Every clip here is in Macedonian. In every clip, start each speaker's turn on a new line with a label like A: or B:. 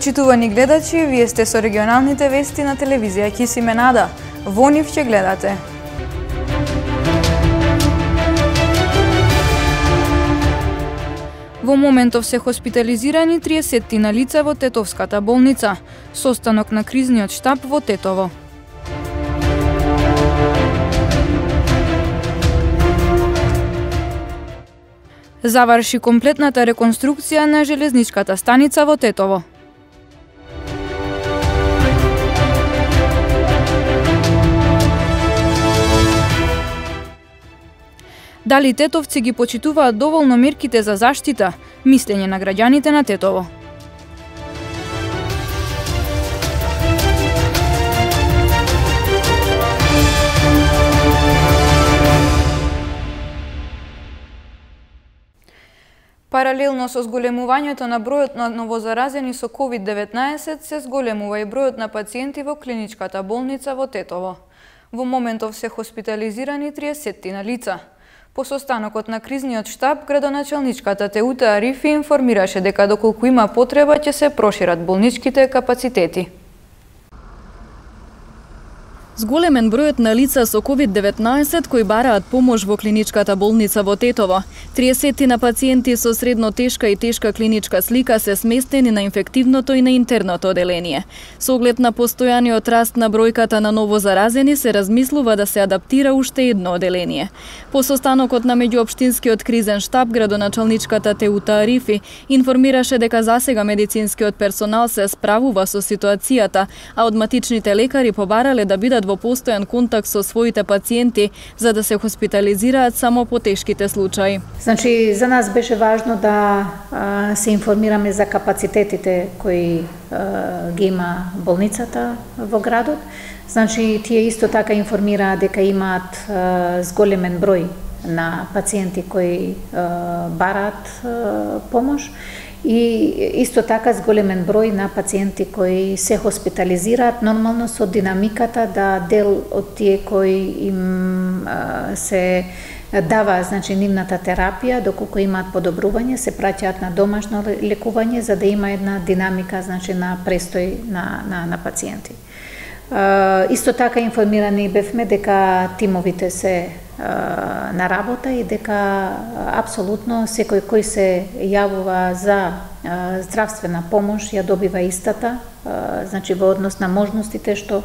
A: Почитувани гледачи, вие сте со регионалните вести на телевизија Кисиме Нада. Во нив ќе гледате. Во моментов се хоспитализирани 30 лица во Тетовската болница. Состанок на кризниот штаб во Тетово. Заврши комплетната реконструкција на железничката станица во Тетово. Дали тетовци ги почитуваат доволно мерките за заштита? Мислење на граѓаните на Тетово. Паралелно со зголемувањето на бројот на новозаразени со COVID-19 се зголемува и бројот на пациенти во клиничката болница во Тетово. Во моментов се хоспитализирани 30 лица. По состанокот на кризниот штаб, градоначалничката Теута Арифи информираше дека доколку има потреба ќе се прошират болничките капацитети.
B: Зголемен бројот на лица со COVID-19 кои бараат помош во клиничката болница во Тетово. 30 на пациенти со средно тешка и тешка клиничка слика се сместени на инфективното и на интерното оделение. Со оглед на постојаниот раст на бројката на новозаразени се размислува да се адаптира уште едно оделение. По состанокот на меѓуопштинскиот кризен штаб, градоначалничката Теута Арифи информираше дека засега медицинскиот персонал се справува со ситуацијата, а одматичните лекари побарале да бидат во постојан контакт со своите пациенти за да се хоспитализираат само по тешките случаи.
C: Значи, за нас беше важно да се информираме за капацитетите кои ги има болницата во градот. Значи, тие исто така информираат дека имаат зголемен број на пациенти кои бараат помош и исто така зголемен број на пациенти кои се хоспитализираат, нормално со динамиката да дел од тие кои им се дава, значи, нивната терапија, доколку имаат подобрување, се праќаат на домашно лекување за да има една динамика, значи, на престој на пациенти. Исто така информирани бевме дека тимовите се на работа и дека апсолутно секој кој се јавува за здравствена помош ја добива истата, значи во однос на можностите што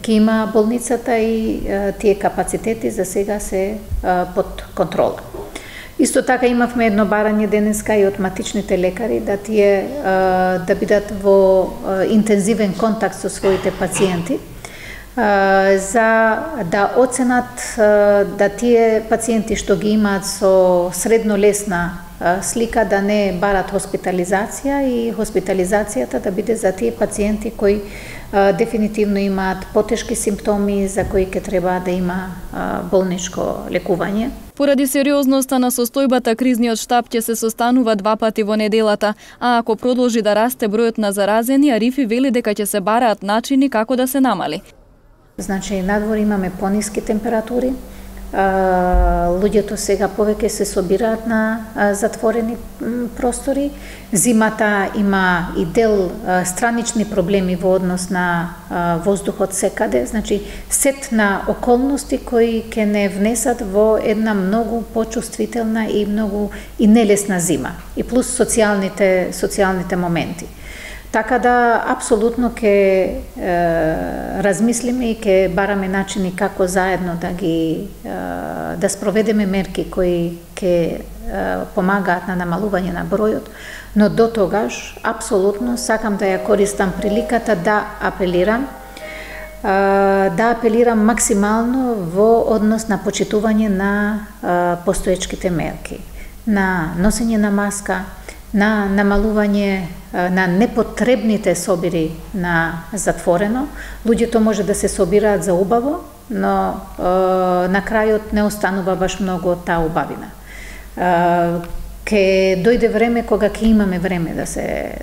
C: ќе има болницата и тие капацитети за сега се под контрола. Исто така имавме едно барање денеска и од матичните лекари да тие да бидат во интензивен контакт со своите пациенти за да оценат да тие пациенти што ги имаат со средно лесна слика да не барат хоспитализација и хоспитализацијата да биде за тие пациенти кои дефинитивно имаат потешки симптоми за кои ќе треба да има болничко лекување.
B: Поради сериозноста на состојбата, кризниот штаб ќе се состанува 2 пати во неделата, а ако продолжи да расте бројот на заразени, Арифи вели дека ќе се бараат начини како да се намали.
C: Значи, надвор имаме пониски температури, луѓето сега повеќе се собираат на затворени простори. Зимата има и дел странични проблеми во однос на воздухот секаде, значи сет на околности кои ќе не внесат во една многу почувствителна и многу и нелесна зима, и плюс социјалните моменти. Така да, апсолутно ќе размислиме и ќе бараме начини како заедно да спроведеме мерки кои ќе помагаат на намалување на бројот, но до тогаш, апсолутно, сакам да ја користам приликата да апелирам максимално во однос на почитување на постоечките мерки, на носење на маска, на намалување на непотребните собири на затворено. Луѓето може да се собираат за убаво, но на крајот не останува баш многу од таа убавина. Ке дојде време кога ќе имаме време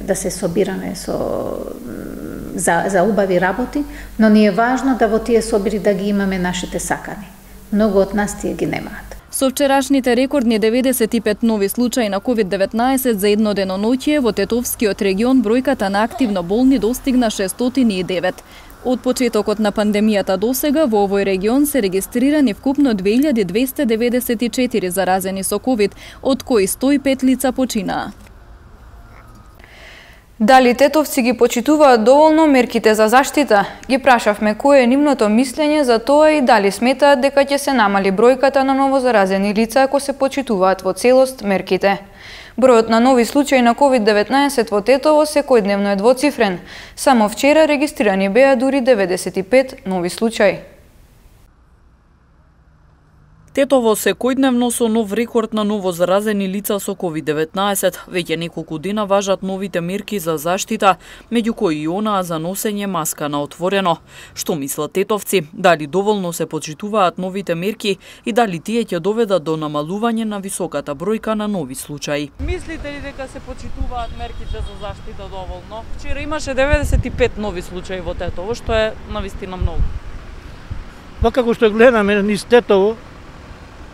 C: да се собираме за убави работи, но ни е важно да во тие собири да ги имаме нашите сакани. Многу од нас тие ги немаат.
B: Со вчерашните рекордни 95 нови случаи на COVID-19 за едно деноноќие во Тетовскиот регион бројката на активно болни достигна 609. Од почетокот на пандемијата досега во овој регион се регистрирани вкупно 2294 заразени со COVID, од кои 105 лица починаа.
A: Дали тетовци ги почитуваат доволно мерките за заштита? Ги прашавме кое е нивното мислење за тоа и дали сметаат дека ќе се намали бројката на новозаразени лица ако се почитуваат во целост мерките. Бројот на нови случаи на COVID-19 во Тетово секојдневно е двоцифрен. Само вчера регистрирани беа дури 95 нови случаи.
D: Тетово секојдневно со нов рекорд на новозаразени лица со COVID-19. Веќе неколку дена важат новите мерки за заштита, меѓу кои и онаа за носење маска на отворено. Што мислат тетовци? Дали доволно се почитуваат новите мерки и дали тие ќе доведат до намалување на високата бројка на нови случаи?
E: Мислите ли дека се почитуваат мерките за заштита доволно? Вчера имаше 95 нови случаи во Тетово, што е навистина многу.
F: Па како што гледаме низ Тетово,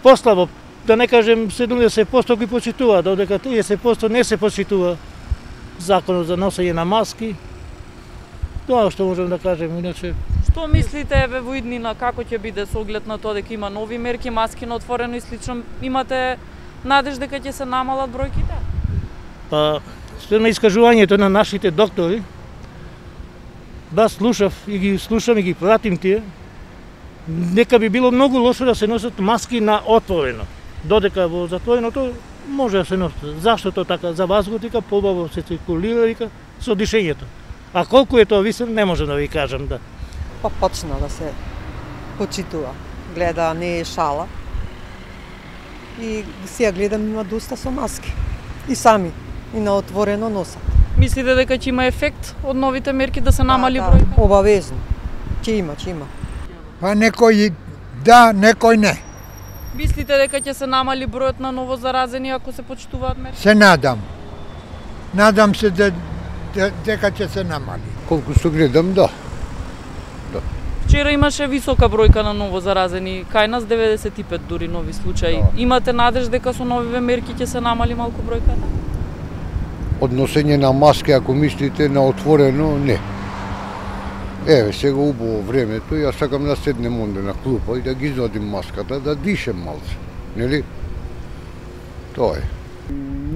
F: послабо, да не кажем 70% ги почитуваат, додека 30% не се почитува законот за носење на маски. Тоа што можем да кажем, иначе.
E: Што мислите еве во иднина како ќе биде со оглед на тоа дека има нови мерки, маски на отворено и слично? Имате надеж дека ќе се намалат бројките?
F: Па, спрема искажувањето на нашите доктори, да слушам и ги пратим тие, нека би било многу лошо да се носат маски на отворено. Додека во затвореното може да се носат. Зашто тоа така? За воздухот вика побаво се циркулира вика со дишењето. А колку е тоа висок не можам да ви кажам да.
G: Па почна да се почитува. Гледа не е шала. И сега гледам има доста со маски. И сами и на отворено носат.
E: Мислите дека ќе има ефект од новите мерки да се намали бројка?
G: Обавезно. Ќе има.
H: Па некој да, некој не.
E: Мислите дека ќе се намали бројот на новозаразени ако се почитуваат мерки?
H: Се надам. Надам се дека ќе се намали.
I: Колку што гледам, да.
E: Вчера имаше висока бројка на новозаразени, кај нас 95 дури нови случаи. Да. Имате надеж дека со новиве мерки ќе се намали малку бројката?
I: Односење на маски, ако мислите на отворено, не. Еве, сега убаво времето, јас сакам да седнем онде на клупа и да ги извадим маската, да дишем малце, нели? Тоа е.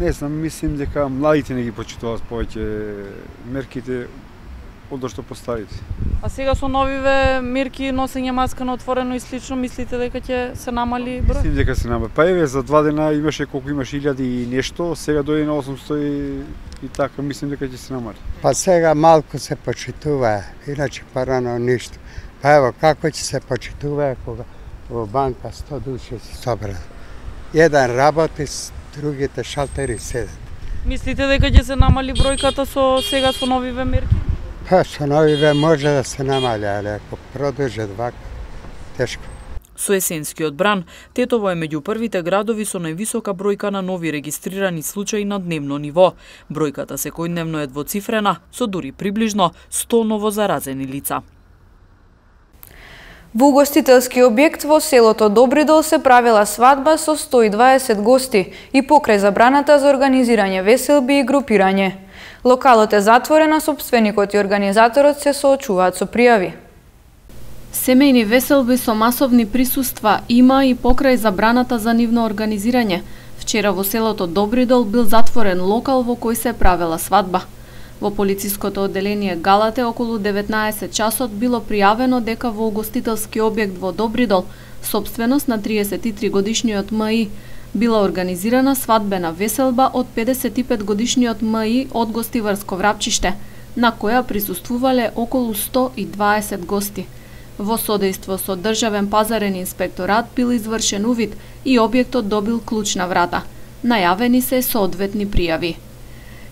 J: Не знам, мислим дека младите не ги почитуваат повеќе мерките од што постарите.
E: А сега со новиве мерки, носење маска на отворено и слично, мислите дека ќе се намали број?
J: Мислим дека се намали. Па еве, за 2 дена имаше колку имаше 1000 и нешто, сега дојде на 800 и така, мислим дека ќе се намали.
H: Па сега малку се почитува, иначе парано ништо. Па ево, како ќе се почитува кога во банка 100 души се собрат. Еден работи, другите шалтери седат.
E: Мислите дека ќе се намали бројката сега со новиве мерки?
H: Па со новиве може да се намали, али ако продолжат вака, тешко.
D: Со есенскиот бран, Тетово е меѓу првите градови со највисока бројка на нови регистрирани случаи на дневно ниво. Бројката секојдневно е двоцифрена, со дури приближно 100 новозаразени лица.
A: Во угостителски објект во селото Добридол се правила свадба со 120 гости и покрај забраната за организирање веселби и групирање. Локалот е затворен, а сопственикот и организаторот се соочуваат со пријави.
K: Семејни веселби со масовни присуства има и покрај забраната за нивно организирање. Вчера во селото Добридол бил затворен локал во кој се правела свадба. Во полициското одделение Галате околу 19 часот било пријавено дека во угостителски објект во Добридол, сопственост на 33 годишниот МИ, била организирана свадбена веселба од 55 годишниот МИ од Гостиварско Врапчиште, на која присуствувале околу 120 гости. Во содејство со Државен пазарен инспекторат бил извршен увид и објектот добил клуч на врата. Најавени се соодветни пријави.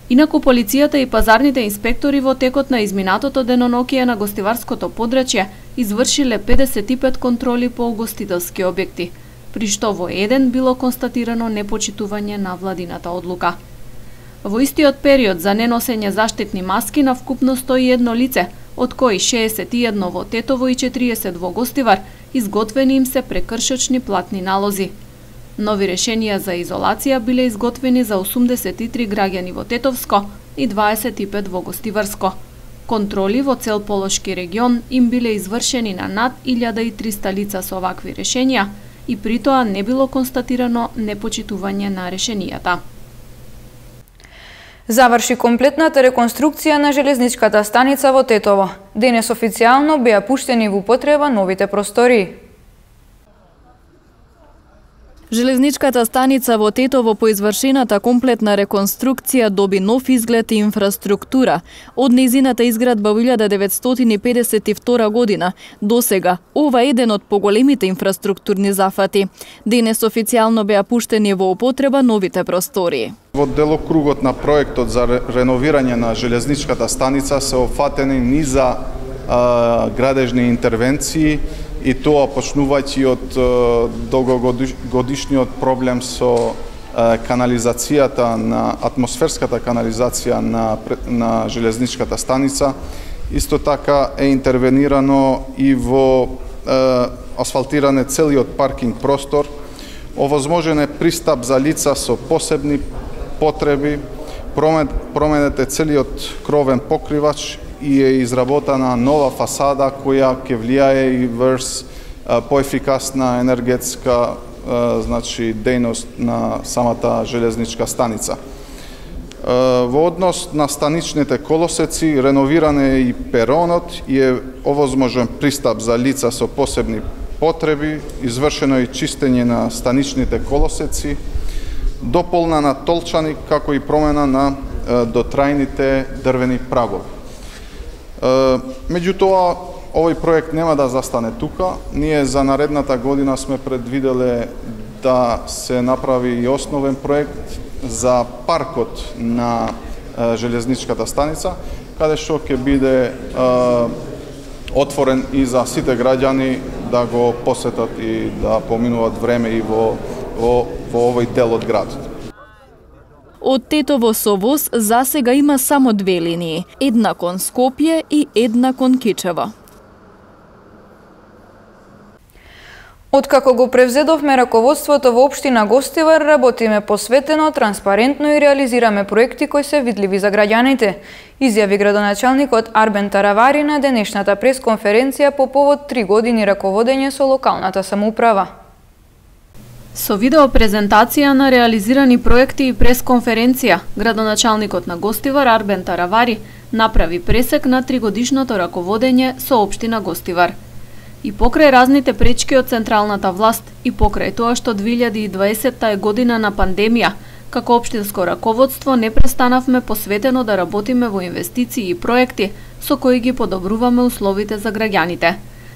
K: Инаку полицијата и пазарните инспектори во текот на изминатото деноноќие на гостиварското подрачје извршиле 55 контроли по угостителски објекти, при што во еден било констатирано непочитување на владината одлука. Во истиот период за неносење заштитни маски на вкупно 101 лице, од кои 61 во Тетово и 40 во Гостивар, изготвени им се прекршочни платни налози. Нови решенија за изолација биле изготвени за 83 граѓани во Тетовско и 25 во Гостиварско. Контроли во цел Полошки регион им биле извршени на над 1300 лица со овакви решенија и при тоа не било констатирано непочитување на решенијата.
A: Заврши комплетната реконструкција на железничката станица во Тетово. Денес официјално беа пуштени во употреба новите простории.
B: Железничката станица во Тетово по извршената комплетна реконструкција доби нов изглед и инфраструктура. Од нејзината изградба во 1952 година до сега, ова е еден од поголемите инфраструктурни зафати. Денес официјално беа пуштени во употреба новите простории.
L: Во делокругот на проектот за реновирање на железничката станица се опфатени низа градежни интервенции, и тоа почнувајќи од долгогодишниот проблем со канализацијата, на атмосферската канализација на железничката станица. Исто така е интервенирано и во асфалтиране целиот паркинг простор. Овозможен е пристап за лица со посебни потреби, променет е целиот кровен покривач и е изработена нова фасада која ќе влијае и врз поефикасна енергетска дејност на самата железничка станица. Во однос на станичните колосеци, реновиран е и перонот и е овозможен пристап за лица со посебни потреби, извршено е и чистење на станичните колосеци, дополнена толчани, како и промена на дотрајните дрвени прагови. Меѓутоа, овој проект нема да застане тука. Ние за наредната година сме предвиделе да се направи и основен проект за паркот на железничката станица, каде што ќе биде отворен и за сите граѓани да го посетат и да поминуваат време и во овој дел од градот.
B: Од Тетово со воз засега има само две линии, една кон Скопје и една кон Кичево.
A: Откако го превзедовме раководството во општина Гостивар, работиме посветено, транспарентно и реализираме проекти кои се видливи за граѓаните, изјави градоначалникот Арбен Таравари на денешната пресконференција по повод 3 години раководење со локалната самоуправа.
K: Со видеопрезентација на реализирани проекти и пресконференција, градоначалникот на Гостивар Арбен Таравари направи пресек на 3-годишното раководење со општина Гостивар. И покрај разните пречки од централната власт и покрај тоа што 2020 е година на пандемија, како општинско раководство не престанавме посветено да работиме во инвестиции и проекти со кои ги подобруваме условите за граѓаните.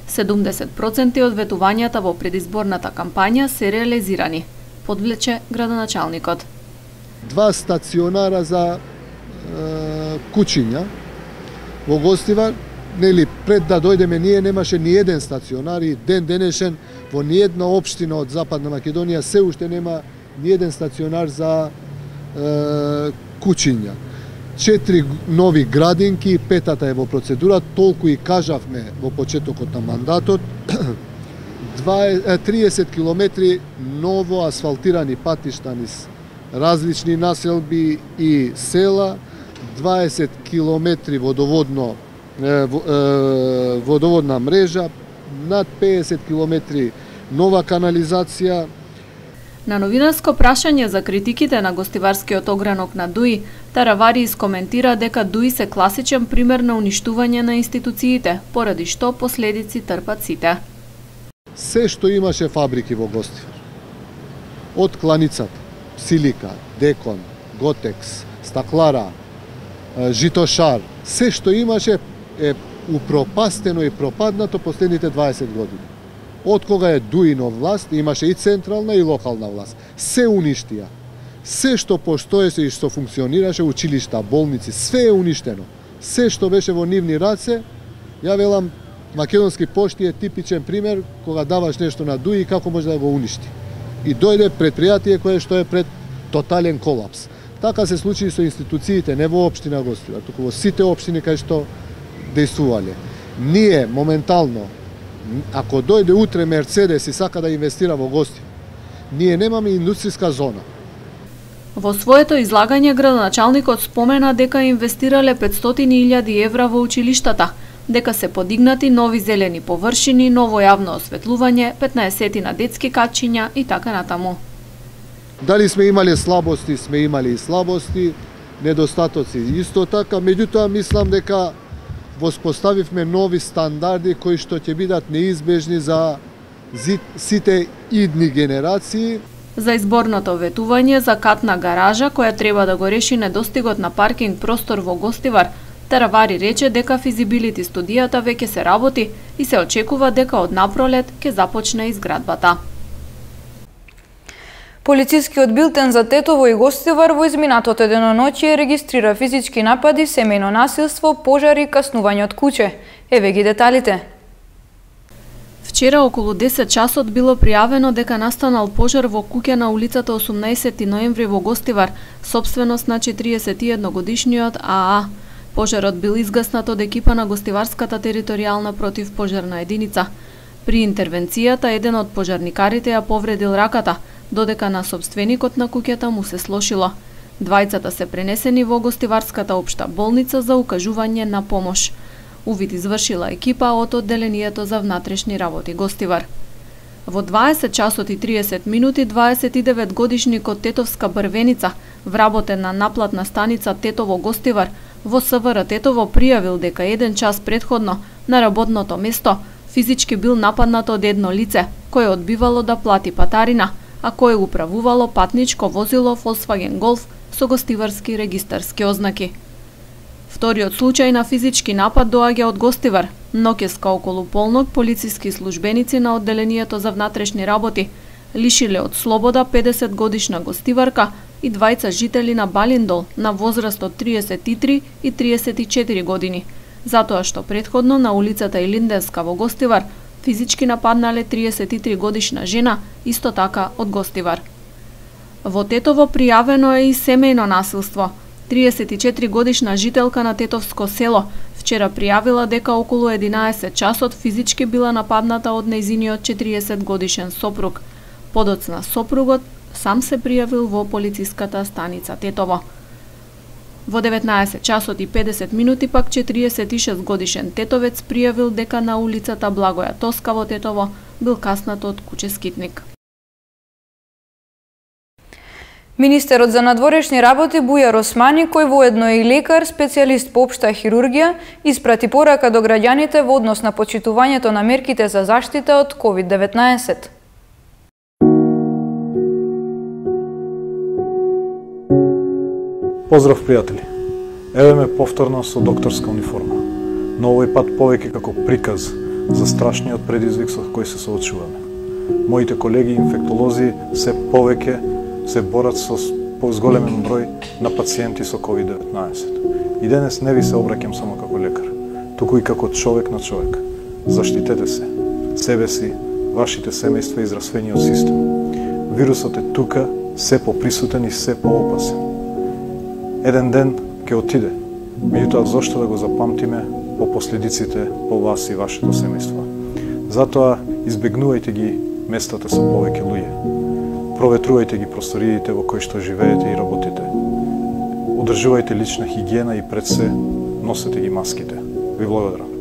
K: 70% од ветувањата во предизборната кампања се реализирани, подвлече градоначалникот.
M: 2 стационара за кучиња во Гостивар, нели пред да дојдеме ние немаше ни еден стационар и ден денешен во ни една општина од Западна Македонија се уште нема ни еден стационар за кучиња. 4 нови градинки, 5-та е во процедура, толку и кажавме во почетокот на мандатот. 30 километри ново асфалтирани патишта низ различни населби и села, 20 километри водоводна мрежа, над 50 километри нова канализација.
K: На новинарско прашање за критиките на гостиварскиот огранок на ДУИ, Таравари искоментира дека ДУИ се класичен пример на уништување на институциите, поради што последици трпат сите.
M: Се што имаше фабрики во Гостивар, од кланицата, Силика, Декон, Готекс, Стаклара, Житошар, се што имаше е упропастено и пропаднато последните 20 години. Од кога е ДУИ на власт, имаше и централна и локална власт. Се уништија. Се што постоеше и што функционираше, училишта, болници, све е уништено. Се што беше во нивни раце, ја велам, Македонски пошти е типичен пример кога даваш нешто на ДУИ како може да го уништи. И дојде предпријатие кое што е пред тотален колапс. Така се случи со институциите, не во општина Гостивар, туку во сите општини кај што дејствувале. Ние моментално, ако дојде утре Мерцедес и сака да инвестира во Гостивар, ние немаме индустријска зона.
K: Во своето излагање градоначалникот спомена дека инвестирале 500.000 евра во училиштата, дека се подигнати нови зелени површини, ново јавно осветлување, 15 на детски катчиња и така натаму.
M: Дали сме имале слабости, сме имали и слабости, недостатоци исто така, меѓутоа мислам дека воспоставивме нови стандарди кои што ќе бидат неизбежни за сите идни генерации.
K: За изборното ветување за катна гаража која треба да го реши недостигот на паркинг простор во Гостивар, Таравари рече дека физибилити студијата веќе се работи и се очекува дека од напролет ќе започне изградбата.
A: Полицискиот билтен за Тетово и Гостивар во изминатото деноноќие регистрира физички напади, семејно насилство, пожари и каснување од куќе. Еве ги деталите.
K: Вчера околу 10 часот било пријавено дека настанал пожар во куќа на улицата 18 ноември во Гостивар, сопственост на 41-годишниот АА. Пожарот бил изгаснат од екипа на Гостиварската територијална противпожарна единица. При интервенцијата еден од пожарникарите ја повредил раката, додека на сопственикот на куќата му се слошило. Двајцата се пренесени во Гостиварската општа болница за укажување на помош. Увид извршила екипа од одделението за внатрешни работи Гостивар. Во 20 часот и 30 минути 29-годишникот Тетовска Брвеница, вработен на наплатна станица Тетово Гостивар, во СВР Тетово пријавил дека 1 час предходно на работното место физички бил нападнат од едно лице, кое одбивало да плати патарина, а кое управувало патничко возило Volkswagen Golf со гостиварски регистарски ознаки. Вториот случај на физички напад доаѓа од Гостивар. Ноќеска околу полнок полициски службеници на одделението за внатрешни работи лишиле од слобода 50-годишна гостиварка и двајца жители на Балиндол на возраст од 33 и 34 години, затоа што предходно на улицата Илинденска во Гостивар физички нападнале 33 годишна жена, исто така од Гостивар. Во Тетово пријавено е и семејно насилство. 34 годишна жителка на Тетовско село вчера пријавила дека околу 11 часот физички била нападната од нејзиниот 40 годишен сопруг. Подоцна сопругот сам се пријавил во полициската станица Тетово. Во 19 часот и 50 минути пак 46 годишен тетовец пријавил дека на улицата Благоја Тоска во Тетово бил каснат од куќе скитник.
A: Министерот за надворешни работи Бујар Османи, кој воедно е и лекар, специјалист по општа хирургија, испрати порака до граѓаните во однос на почитувањето на мерките за заштита од COVID-19.
N: Поздрав, пријатели! Еве ме повторно со докторска униформа, но овој пат повеќе како приказ за страшниот предизвик со кој се соочуваме. Моите колеги инфектолози се повеќе се борат со зголемен број на пациенти со COVID-19. И денес не ви се обраќам само како лекар, туку и како човек на човек. Заштитете се, себе си, вашите семејства и здравствениот систем. Вирусот е тука, се поприсутен и се поопасен. Еден ден ќе отиде, меѓутоа зошто да го запамтиме по последиците по вас и вашето семејство. Затоа избегнувајте ги местата со повеќе луѓе. Проветрувајте ги просториите во кои што живеете и работите. Одржувајте лична хигиена и пред се носете ги маските. Ви благодарам.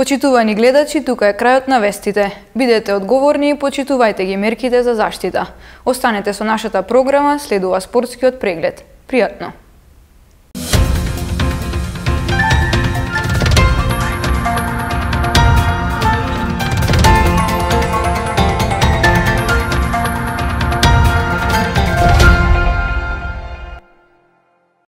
A: Почитувани гледачи, тука е крајот на вестите. Бидете одговорни и почитувајте ги мерките за заштита. Останете со нашата програма, следува спортскиот преглед. Пријатно!